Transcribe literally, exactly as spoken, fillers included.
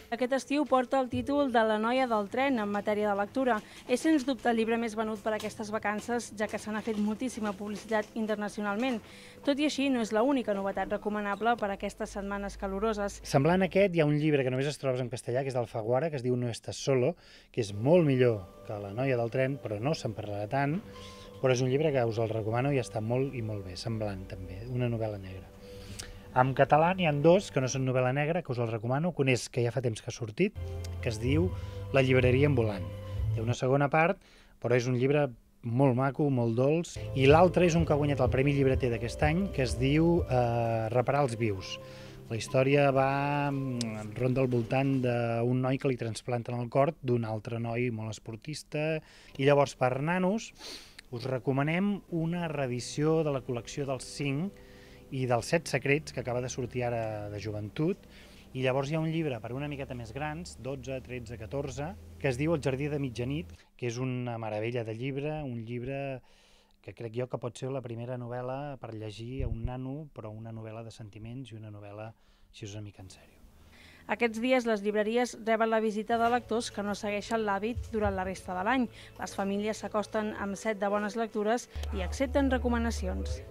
Aquest estiu porta el títol de La noia del tren en matèria de lectura. És sens dubte el llibre més venut per aquestes vacances, ja que se n'ha fet moltíssima publicitat internacionalment. Tot i així, no és l'única novetat recomanable per a aquestes setmanes caloroses. Semblant a aquest, hi ha un llibre que només es trobes en castellà, que és d'Alfaguara, que es diu No estàs solo, que és molt millor que La noia del tren, però no se'n parlarà tant, però és un llibre que us el recomano i està molt i molt bé, semblant també, una novel·la negra. En català n'hi ha dos que no són novel·la negra, que us el recomano. Un és que ja fa temps que ha sortit, que es diu La llibreria ambulant. Té una segona part, però és un llibre molt maco, molt dolç. I l'altre és un que ha guanyat el Premi Llibreter d'aquest any, que es diu eh, Reparar els vius. La història va ronda al voltant d'un noi que li transplanten el cor d'un altre noi molt esportista. I llavors, per nanos, us recomanem una reedició de la col·lecció dels cinc i dels set secrets, que acaba de sortir ara de joventut, i llavors hi ha un llibre per una miqueta més grans, dotze, tretze, catorze, que es diu El jardí de mitjanit, que és una meravella de llibre, un llibre que crec jo que pot ser la primera novel·la per llegir a un nano, però una novel·la de sentiments i una novel·la així una mica en sèrio. Aquests dies les llibreries reben la visita de lectors que no segueixen l'hàbit durant la resta de l'any. Les famílies s'acosten amb set de bones lectures i accepten recomanacions.